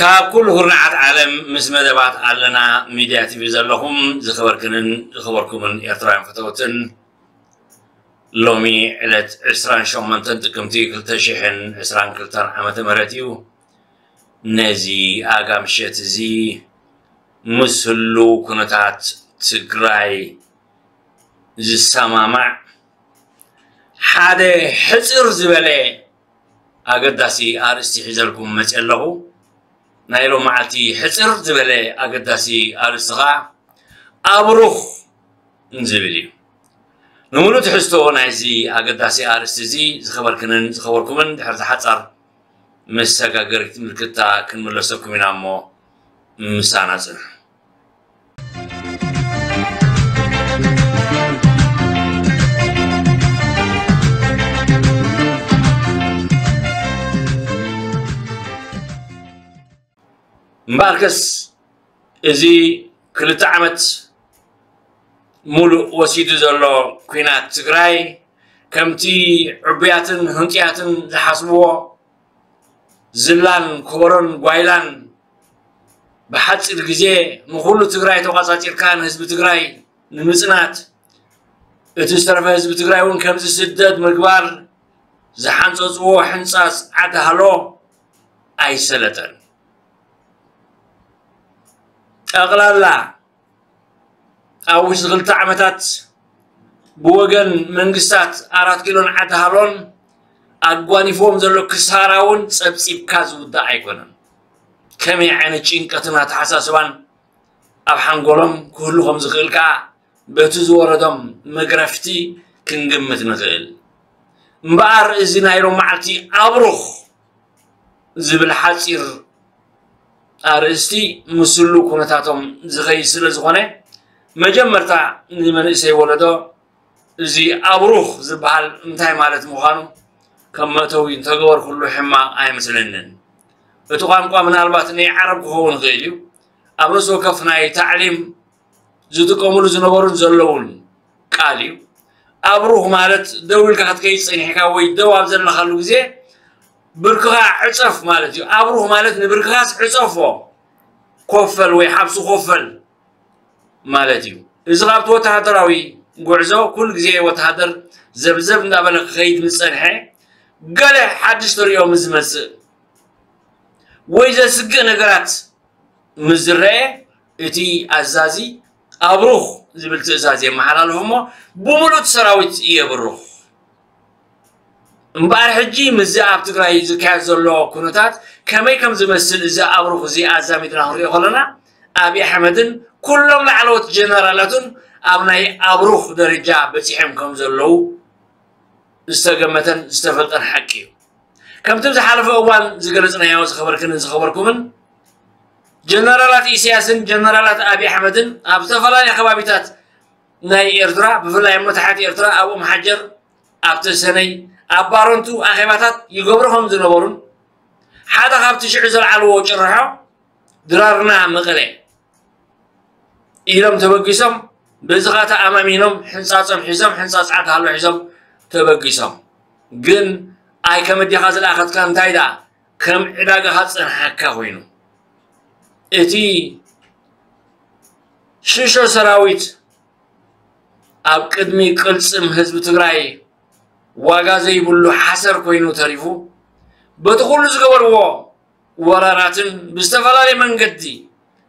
ኣብ ኩሉ ኩርናዓት ዓለም ምስ መደባት ኣለና ሚድያ ቲቪ ዘለኹም ዝኸበርክንን ዝኸበርኩምን ኤርትራውያን ፈተውትን፣ ሎሚ ዕለት ዕስራን ሸሞንተን ጥቅምቲ ክልተ ሽሕን ዕስራን ክልተን ዓመተ ምህረት እዩ። ነዚ ኣጋ ምሸት እዚ ምስ ህሉው ኩነታት ትግራይ ዝሰማማዕ ሓደ ሕጽር ዝበለ ኣገዳሲ ኣርእስቲ ሒዘልኩም መጽእ ኣለኹ። ናይ ሎም መዓልቲ ሕጽር ዝበለ ኣገዳሲ ኣርእስቲ ኸኣ ኣብሩኽ ዝብል እዩ። ንምሉእ ትሕዝቶ ናይዚ ኣገዳሲ ኣርእስቲ እዚ ዝኸበርክንን ዝኸበርኩምን ድሕሪ ዝሓጻር መሰጋገሪት ምልክታ ክንምለሰኩም ኢና እሞ ምሳና ጽንሑ። እምበኣርከስ እዚ ክልተ ዓመት ሙሉእ ወሲዱ ዘሎ ኲናት ትግራይ ከምቲ ዕቡያትን ህንጡያትን ዝሓስብዎ ዝላን ኮቦሮን ጓይላን ብሓፂር ግዜ ንኹሉ ትግራይ ተቋፃፂርካ ንህዝቢ ትግራይ ንምፅናት እቲ ዝተረፈ ህዝቢ ትግራይ እውን ከምዚ ስደት ምግባር ዝሓንፀፅዎ ሕንፃፅ ዓዲ ሃሎ ኣይሰለጠን። ጠቕላላ ኣብ ውሽጢ ክልተ ዓመታት ብወገን መንግስታት ኣራት ኪሎን ዓዲ ሃሎን ኣጓኒፍዎም ዘሎ ክሳራ እውን ፀብፂብካ ዝውዳእ ኣይኮነን። ከመይ ዓይነት ጭንቀትን ኣተሓሳስባን ኣብ ሓንጎሎም ክህሉ ከም ዝኽእል ከዓ በቲ ዝወረዶም መግረፍቲ ክንግምት ንኽእል። እምበኣር እዚ ናይ ሎም መዓልቲ ኣብሩኽ ዝብል ሓፂር ኣርእስቲ ምስሉ ኩነታቶም ዝኸይድ ስለ ዝኾነ መጀመርታ ንመንእሰይ ወለዶ እዚ ኣብሩኽ ዝበሃል እንታይ ማለት ምዃኑ ከም መእተዊ እንተገበርኩሉ ሕማቕ ኣይመስለንን። እቲ ቋንቋ ምናልባት ናይ ዓረብ ክኸውን ይኽእል እዩ። ኣብ ነፍሲ ወከፍ ናይ ታዕሊም ዝጥቀምሉ ዝነበሩን ዘለውን ቃል እዩ። ኣብሩኽ ማለት ደው ኢልካ ክትከይድ ጸኒሕካ ወይ ደው ኣብ ዘለኻሉ ግዜ ብርክኻ ዕጸፍ ማለት እዩ። ኣብሩኽ ማለት ንብርክኻስ ዕጸፎ፣ ኮፈል ወይ ሓብሱ ኮፈል ማለት እዩ። እዚ ካብቲ ወተሃደራዊ ጉዕዞ ኩሉ ግዜ ወተሃደር ዘብዘብ እንዳበለ ክኸይድ ምስ ጸንሐ፣ ገለ ሓድሽ ተርእዮ ምስ ዝመጽእ ወይ ዘስግእ ነገራት ምስ ዝረአ፣ እቲ ኣዛዚ ኣብሩኽ ዝብል ትእዛዝ የመሓላልፍ እሞ ብምሉእ እቲ ሰራዊት የብሩኽ። እምበኣር ሕጂ ምስዚ ኣብ ትግራይ ዝካየድ ዘሎ ኩነታት ከመይ ከም ዝመስል እዚ ኣብሩኽ እዚ ኣዛሚድና ክንሪኦ ከለና ኣብይ ኣሕመድን ኩሎም ላዕለዎት ጀነራላቱን ኣብ ናይ ኣብሩኽ ደረጃ በፂሖም ከም ዘለዉ ዝተገመተን ዝተፈልጠን ሓቂ እዩ። ከምቲ ኣብ ዝሓለፈ እዋን ዝገለፅናዮ ዝኸበርክንን ዝኸበርኩምን ጀነራላት ኢሳያስን ጀነራላት ኣብይ ኣሕመድን ኣብ ዝተፈላለዩ ከባቢታት ናይ ኤርትራ ብፍላይ እሞ ታሕቲ ኤርትራ ኣብ ኦም ሓጀር ኣብ ተሰነይ ኣብ ባረንቱ ኣኼባታት ይገብሩ ከም ዝነበሩን ሓደ ካብቲ ሽዑ ዘልዓልዎ ጭርሖ ድራርና መቐለ ኢሎም ተበጊሶም በዚ ኸዓ ተኣማሚኖም ሕንፃፆም ሒዞም ሕንፃፅ ዓዲ ሃሎ ሒዞም ተበጊሶም ግን ኣይ ከም ኣዴኻ ዝለኣኸትካ እንታይ ደኣ ከም ዕዳጋኻ ዝፀንሓካ ኮይኑ እቲ ሽሾ ሰራዊት ኣብ ቅድሚ ቅልፅም ህዝቢ ትግራይ ዋጋ ዘይብሉ ሓሰር ኮይኑ ተሪፉ በቲ ኩሉ ዝገበርዎ ወራራትን ብዝተፈላለየ መንገዲ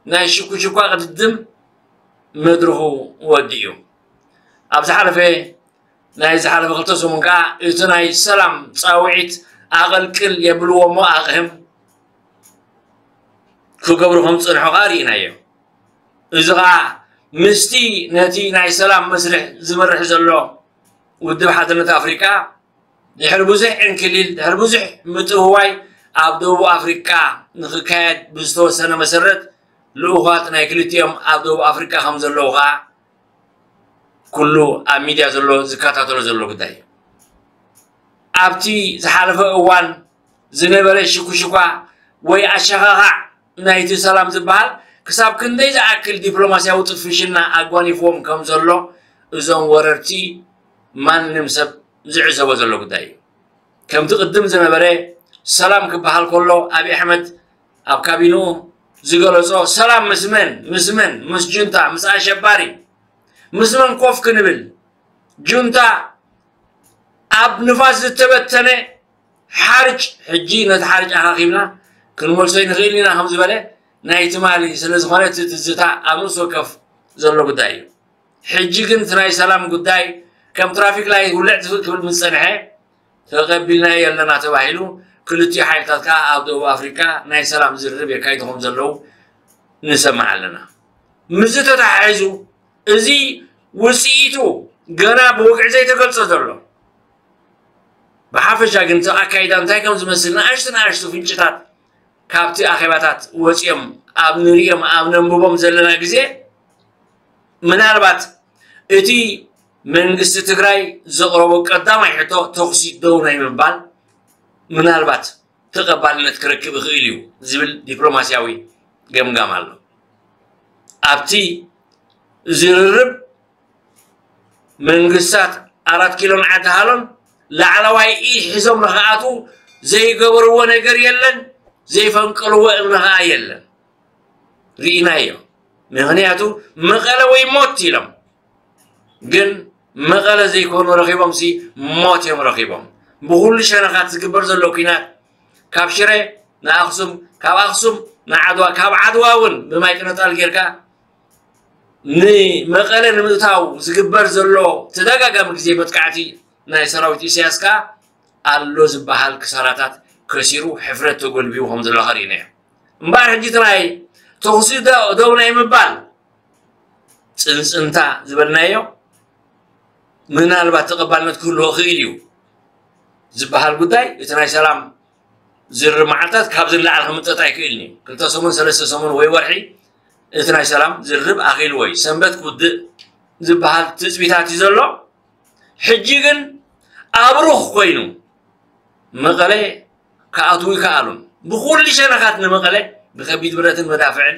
ናይ ሽኩሽኳ ቅድድም መድርኹ ወዲኡ። ኣብ ዝሓለፈ ናይ ዝሓለፈ ክልተ ሰሙን ከዓ እቲ ናይ ሰላም ፃውዒት ኣቐልቅል የብልዎ እሞ ኣቕህም ክገብሩ ከም ዝፅንሑ ከዓ ርኢናዮ። እዚ ከዓ ምስቲ ነቲ ናይ ሰላም መስርሕ ዝመርሕ ዘሎ ውድብ ሓድነት ኣፍሪቃ ድሕሪ ብዙሕ ዕንክሊል ድሕሪ ብዙሕ ምጥውዋይ ኣብ ደቡብ ኣፍሪቃ ንክካየድ ብዝተወሰነ መሰረት ልኡኻት ናይ ክልቲኦም ኣብ ደቡብ ኣፍሪቃ ከም ዘለዉ ከዓ ኩሉ ኣብ ሚድያ ዘሎ ዝከታተሎ ዘሎ ጉዳይ እዩ። ኣብቲ ዝሓለፈ እዋን ዝነበረ ሽኩሽኳ ወይ ኣሸኻኻዕ ናይቲ ሰላም ዝበሃል ክሳብ ክንደይ ዝኣክል ዲፕሎማስያዊ ጥፍሽና ኣጓኒፍዎም ከም ዘሎ እዞም ወረርቲ ማንም ሰብ ዝዕዘቦ ዘሎ ጉዳይ እዩ። ከምቲ ቅድም ዝነበረ ሰላም ክበሃል ከሎ ኣብይ ኣሕመድ ኣብ ካቢንኡ ዝገለጾ፣ ሰላም ምስ መን? ምስ መን? ምስ ጁንታ፣ ምስ ኣሸባሪ፣ ምስ መን ኮፍ ክንብል? ጁንታ ኣብ ንፋስ ዝተበተነ ሓርጭ፣ ሕጂ ነቲ ሓርጭ ኣኻኺብና ክንመልሶ ይንኽእል ኢና ከም ዝበለ ናይ ትማሊ ስለ ዝኾነ እቲ ትዝታ ኣብ ርእሲ ወከፍ ዘሎ ጉዳይ እዩ። ሕጂ ግን እቲ ናይ ሰላም ጉዳይ ከም ትራፊክ ላይት ውልዕ ትፍእ ክብል ምስ ጸንሐ ተቐቢልናዮ ኣለና ተባሂሉ፣ ክልቲኡ ሓይልታት ከኣ ኣብ ደቡብ ኣፍሪቃ ናይ ሰላም ዝርርብ የካይዱ ከም ዘለዉ ንሰምዕ ኣለና። ምስዚ ተተሓሒዙ እዚ ውጽኢቱ ገና ብወግዒ ዘይተገልጸ ዘሎ፣ ብሓፈሻ ግን እቲ ኣካይዳ እንታይ ከም ዝመስል ንኣሽቱ ንኣሽቱ ፍንጭታት ካብቲ ኣኼባታት ወጺኦም ኣብ ንርእዮም ኣብ ነንብቦም ዘለና ግዜ፣ ምናልባት እቲ መንግስቲ ትግራይ ዘቕረቦ ቀዳማይ ሕቶ ተኹሲ ደው ናይ ምባል ምናልባት ተቐባልነት ክረክብ ይኽእል እዩ ዝብል ዲፕሎማስያዊ ገምጋም ኣሎ። ኣብቲ ዝርርብ መንግስታት ኣራት ኪሎን ዓዲ ሃሎን ላዕለዋይ ኢድ ሒዞም ንኽኣትዉ ዘይገበርዎ ነገር የለን፣ ዘይፈንቀልዎ እምኒ ኸኣ የለን። ርኢናዮ። ምኽንያቱ መቐለ ወይ ሞት ኢሎም፣ ግን መቐለ ዘይኮኑ ረኺቦም ሲ ሞት እዮም ረኺቦም። ብኹሉ ሸነኻት ዝግበር ዘሎ ኲናት ካብ ሽረ ንኣኽሱም፣ ካብ ኣኽሱም ንዓድዋ፣ ካብ ዓድዋ እውን ብማይ ቅነጣል ጌርካ ንመቐለ ንምእታው ዝግበር ዘሎ ተደጋጋሚ ግዜ መጥቃዕቲ ናይ ሰራዊት ኢሳያስ ከኣ ኣሎ ዝበሃል ክሳራታት ከሲሩ ሕፍረት ተጎልቢቡ ከም ዘሎ ኸርእዩና እዮም። እምበኣር ሕጂ እቲ ናይ ተኹሲ ደ- ደው ናይ ምባል ጽንጽንታ ዝበልናዮ ምናልባት ተቐባልነት ክህልዎ ይኽእል እዩ ዝበሃል ጉዳይ እቲ ናይ ሰላም ዝርርብ መዓልታት ካብዚ ንላዕሊ ክምጠጥ ኣይክእልን እዩ። ክልተ ሰሙን ሰለስተ ሰሙን ወይ ወርሒ እቲ ናይ ሰላም ዝርርብ ኣኺልዎ እዩ። ሰንበት ክውድእ ዝበሃል ትጽቢታት እዩ ዘሎ። ሕጂ ግን ኣብሩኽ ኮይኑ መቐለ ክኣትዉ ይከኣሉን። ብኹሉ ሸነኻት ንመቐለ ብከቢድ ብረትን መዳፍዕን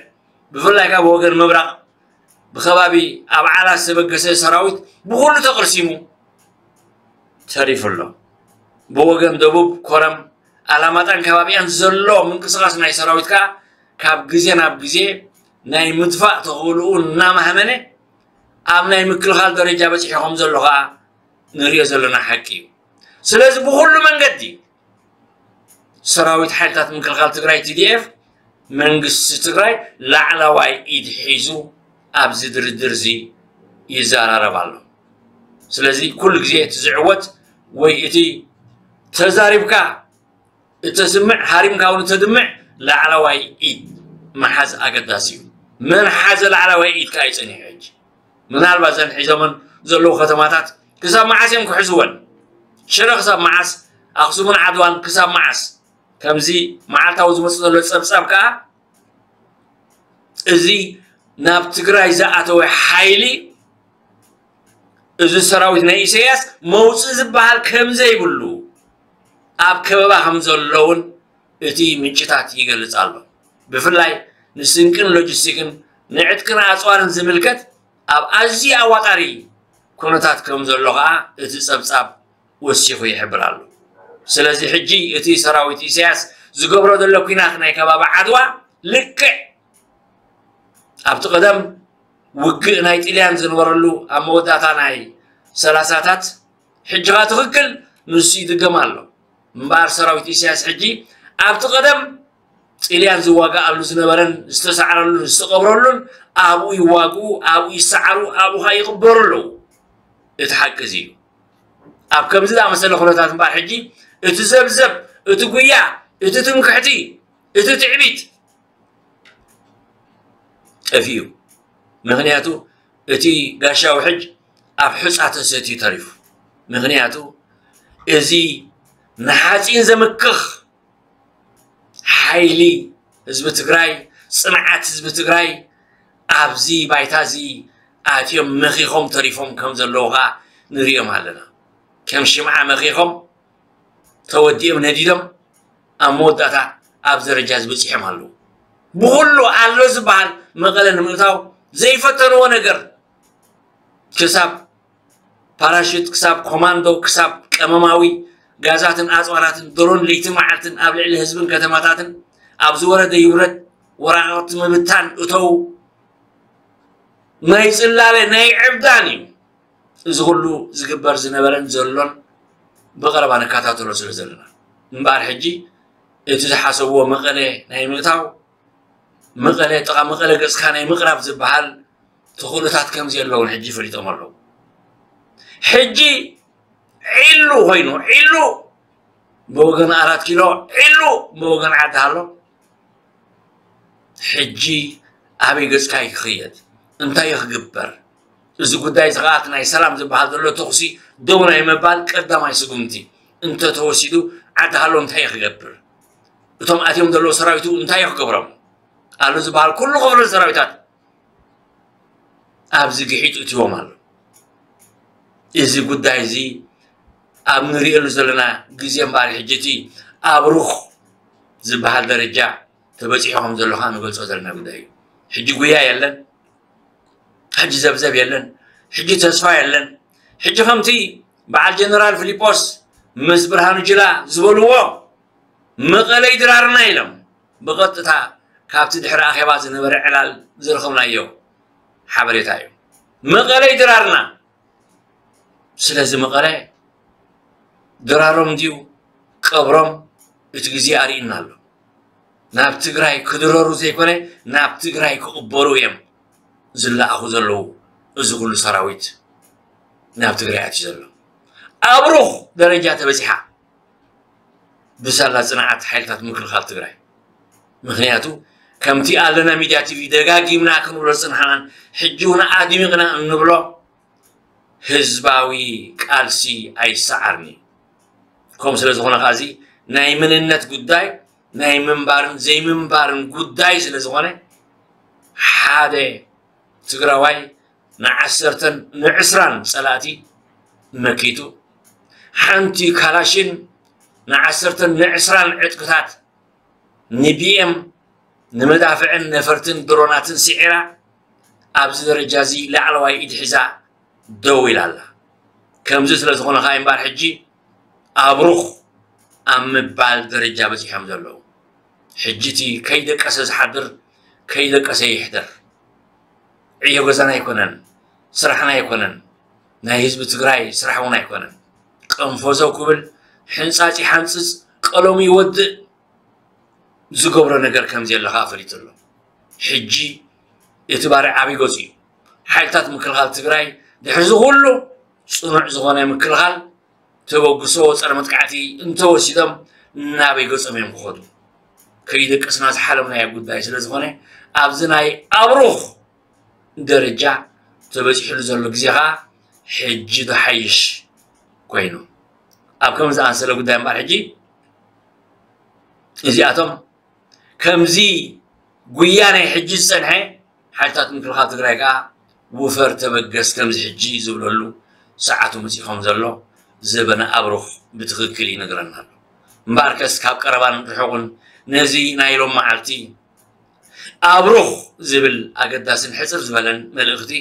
ብፍላይ ካብ ወገን ምብራቕ ብከባቢ ኣብ ዓላ ዝተበገሰ ሰራዊት ብኹሉ ተቕርሲሙ ተሪፉ ኣሎ። ብወገን ደቡብ ኮረም ኣላማጣን ከባቢኣን ዘሎ ምንቅስቓስ ናይ ሰራዊት ከኣ ካብ ግዜ ናብ ግዜ ናይ ምድፋእ ተኽእልኡ እናማህመነ ኣብ ናይ ምክልኻል ደረጃ በጺሑ ከም ዘሎ ከኣ ንሪኦ ዘለና ሓቂ እዩ። ስለዚ ብኹሉ መንገዲ ሰራዊት ሓይልታት ምክልኻል ትግራይ ቲ ዲ ኤፍ መንግስቲ ትግራይ ላዕለዋይ ኢድ ሒዙ ኣብዚ ድርድር እዚ ይዘራረብ ኣሎ። ስለዚ ኩሉ ግዜ እቲ ዝዕወት ወይ እቲ ተዛሪብካ እተስምዕ ሃሪምካ እውን እተድምዕ ላዕለዋይ ኢድ ምሓዝ ኣገዳሲ እዩ። መን ሓዘ ላዕለዋይ ኢድ ከኣ እዩ ጸኒሑ። ሕጂ ምናልባት ዘን ሒዞመን ዘለዉ ከተማታት ክሳብ መዓስ እዮም ክሕዝወን? ሽረ ክሳብ መዓስ? ኣኽሱምን ዓድዋን ክሳብ መዓስ? ከምዚ መዓልታዊ ዝመጽእ ዘሎ ጸብጻብ ከኣ እዚ ናብ ትግራይ ዝኣተወ ሓይሊ እዚ ሰራዊት ናይ ኢሳያስ መውፅእ ዝበሃል ከም ዘይብሉ ኣብ ከበባ ከም ዘሎ እውን እቲ ምንጭታት ይገልጽ ኣሎ። ብፍላይ ንስንቅን ሎጂስቲክን ንዕጥቅን ኣፅዋርን ዝምልከት ኣብ ኣዝዩ ኣዋጣሪ ኩነታት ከም ዘሎ ከዓ እቲ ጸብጻብ ወሲኹ ይሕብር ኣሎ። ስለዚ ሕጂ እቲ ሰራዊት ኢሳያስ ዝገብሮ ዘሎ ኲናት ናይ ከባቢ ዓድዋ ልክዕ ኣብቲ ቀደም ውግእ ናይ ጥልያን ዝነበረሉ ኣብ መወዳእታ ናይ ሰላሳታት ሕጂ ኸኣ ትኽክል ንሱ ይድገም ኣሎ። እምበኣር ሰራዊት ኢሳያስ ሕጂ ኣብቲ ቀደም ጥልያን ዝዋግኣሉ ዝነበረን ዝተሳዕረሉን ዝተቐብረሉን ኣብኡ ይዋግኡ፣ ኣብኡ ይሰዓሩ፣ ኣብኡ ኸኣ ይቕበሩ ኣለዉ። እቲ ሓቂ እዚ እዩ። ኣብ ከምዚ ዝኣመሰለ ኩነታት እምበኣር ሕጂ እቲ ዘብዘብ፣ እቲ ጉያ፣ እቲ ትምክሕቲ፣ እቲ ትዕቢት ጠፊኡ። ምኽንያቱ እቲ ጋሻ ውሕጅ ኣብ ሑጻ ተሰትዩ ተሪፉ። ምኽንያቱ እዚ ንሓጺን ዘምክኽ ሓይሊ ህዝቢ ትግራይ፣ ጽንዓት ህዝቢ ትግራይ ኣብዚ ባይታ እዚ ኣትዮም መኺኾም ተሪፎም ከም ዘለዉ ኸኣ ንርእዮም ኣለና። ከም ሽምዓ መኺኾም ተወዲኦም ነዲዶም ኣብ መወዳእታ ኣብ ደረጃ ዝበፂሖም ኣለዉ። ብኹሉ ኣሎ ዝበሃል መቐለ ንምእታው ዘይፈተንዎ ነገር ክሳብ ፓራሹት ክሳብ ኮማንዶ ክሳብ ቀመማዊ ጋዛትን ኣፅዋራትን ድሮን ለይቲ መዓልትን ኣብ ልዕሊ ህዝብን ከተማታትን ኣብ ዝወረደ ይውረድ ወራቕቲ ምብታን እተው ናይ ጽላለ ናይ ዕብዳን እዩ። እዚ ኩሉ ዝግበር ዝነበረን ዘሎን ብቐረባ ንከታተሎ ስለ ዘለና እምበኣር ሕጂ እቲ ዝሓሰብዎ መቐለ ናይ ምእታው መቐለ ጥቓ መቐለ ገጽካ ናይ ምቕራብ ዝበሃል ተኽእሎታት ከም ዘለውን ሕጂ ፈሊጦም ኣለዉ። ሕጂ ዒሉ ኮይኑ ዒሉ ብወገን ኣራት ኪሎ ዒሉ ብወገን ዓዲ ሃሎ ሕጂ ኣበይ ገጽካ እዩ ክኽየድ እንታይ እዩ ክግበር እዚ ጉዳይ እዚ ከዓ ናይ ሰላም ዝበሃል ዘሎ ተኹሲ ደው ናይ ምባል ቀዳማይ ስጉምቲ እንተተወሲዱ ዓዲ ሃሎ እንታይ እዩ ክገብር እቶም ኣትዮም ዘለዉ ሰራዊቱ እንታይ እዩ ክገብሮም ኣሎ ዝበሃል ኩሉ ክፍለ ሰራዊታት ኣብዚ ግሒጡ እትዎም ኣሎ እዚ ጉዳይ እዚ ኣብ ንሪእሉ ዘለና ግዜ እምበኣር ሕጂ እቲ ኣብሩኽ ዝበሃል ደረጃ ተበፂሑ ከም ዘሎ ከዓ ንገልፆ ዘለና ጉዳይ እዩ ሕጂ ጉያ የለን ሕጂ ዘብዘብ የለን ሕጂ ተስፋ የለን ሕጂ ከምቲ በዓል ጀነራል ፊሊጶስ ምስ ብርሃኑ ጅላ ዝበልዎ መቐለይ ድራርና ኢሎም ብቐጥታ ካብቲ ድሕሪ ኣኼባ ዝነበረ ዕላል ዝረኸብናዮ ሓበሬታ እዩ። መቐለይ ድራርና። ስለዚ መቐለ ድራሮም ድዩ ቀብሮም እቲ ግዜ ኣርእዩና ኣሎ። ናብ ትግራይ ክድረሩ ዘይኮነ ናብ ትግራይ ክቕበሩ እዮም ዝለኣኹ ዘለዉ። እዚ ኩሉ ሰራዊት ናብ ትግራይ ኣትዩ ዘሎ ኣብ ሩኽ ደረጃ ተበፂሓ ብሳላ ፅንዓት ሓይልታት ምክልኻል ትግራይ። ምክንያቱ ከምቲ ኣለና ሚድያ ቲቪ ደጋጊምና ክንብሎ ዝፅናሕናን ሕጂ እውን ኣድሚቕና እንብሎ ህዝባዊ ቃልሲ ኣይሰዓርኒ። ከምኡ ስለ ዝኾነ ከዓ እዚ ናይ መንነት ጉዳይ ናይ ምንባርን ዘይምንባርን ጉዳይ ስለ ዝኾነ ሓደ ትግራዋይ ንዓሰርተን ንዕስራን ፀላእቲ መኪቱ ሓንቲ ካላሽን ንዓሰርተን ንዕስራን ዕጥቅታት ንቢኤም ንመዳፍዕን ነፈርትን ድሮናትን ስዒራ ኣብዚ ደረጃ እዚ ላዕለዋይ ኢድ ሒዛ ደው ኢላ ኣላ። ከምዚ ስለ ዝኾነ ከዓ እምበኣር ሕጂ ኣብሩኽ ኣብ ምባል ደረጃ በፂሖም ዘለዉ። ሕጂ እቲ ከይደቀሰ ዝሓድር ከይደቀሰ ይሕደር። ዕዮ ገዛና ኣይኮነን፣ ስራሕና ኣይኮነን፣ ናይ ህዝቢ ትግራይ ስራሕ እውን ኣይኮነን። ቀንፈዘው ክብል ሕንፃፅ ይሓንፅፅ ቀለሙ ይወድእ ዝገብሮ ነገር ከምዘየለ ከዓ ፈሊጡ ኣሎ። ሕጂ እቲ ባርዕ ኣበይ ገፁ እዩ? ሓይልታት ምክልኻል ትግራይ ድሕሪ እዚ ኩሉ ፅኑዕ ዝኾነ ምክልኻል ተበግሶ ፀረ መጥቃዕቲ እንተወሲዶም ናበይ ገፆም እዮም ክኸዱ? ከይደቀስና ዝሓለምናዮ ጉዳይ ስለ ዝኾነ ኣብዚ ናይ ኣብሩኽ ደረጃ ተበፂሕሉ ዘሎ ግዜ ከዓ ሕጂ ዝሓይሽ ኮይኑ ኣብ ከም ዝኣንሰለ ጉዳይ እምበኣር ሕጂ እዚኣቶም ከምዚ ጉያ ናይ ሕጂ ዝፀንሐ ሓይልታት ምክልኻል ትግራይ ከዓ ውፈር ተበገስ ከምዚ ሕጂ ዝብለሉ ሰዓቱ መፂኡ ከም ዘሎ ዘበነ ኣብሩኽ ብትኽክል ይነግረና ኣሎ። እምበኣርከስ ካብ ቀረባን ርሑቕን ነዚ ናይ ሎም መዓልቲ ኣብሩኽ ዝብል ኣገዳስን ሕፅር ዝበለን መልእኽቲ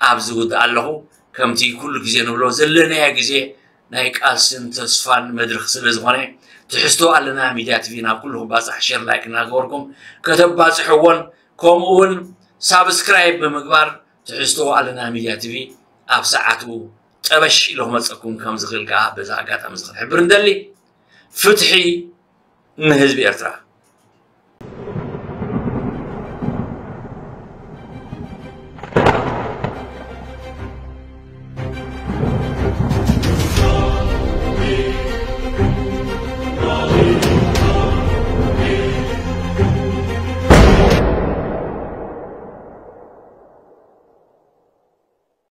ኣብ ዝውድእ ኣለኹ። ከምቲ ኩሉ ግዜ ንብሎ ዘለናዮ ግዜ ናይ ቃልስን ተስፋን መድረኽ ስለ ዝኾነ ትሕዝቶ ኣለና ሚድያ ቲቪ ናብ ኩሉ ክባፃሕ ሸር ላይክ እናገበርኩም ከተባፅሕዎን ከምኡ እውን ሳብስክራይብ ብምግባር ትሕዝቶ ኣለና ሚድያ ቲቪ ኣብ ሰዓቱ ጠበሽ ኢሉ ክመፀኩም ከም ዝኽእል ከዓ በዛ ኣጋጣሚ እዚ ክንሕብር ንደሊ። ፍትሒ ንህዝቢ ኤርትራ።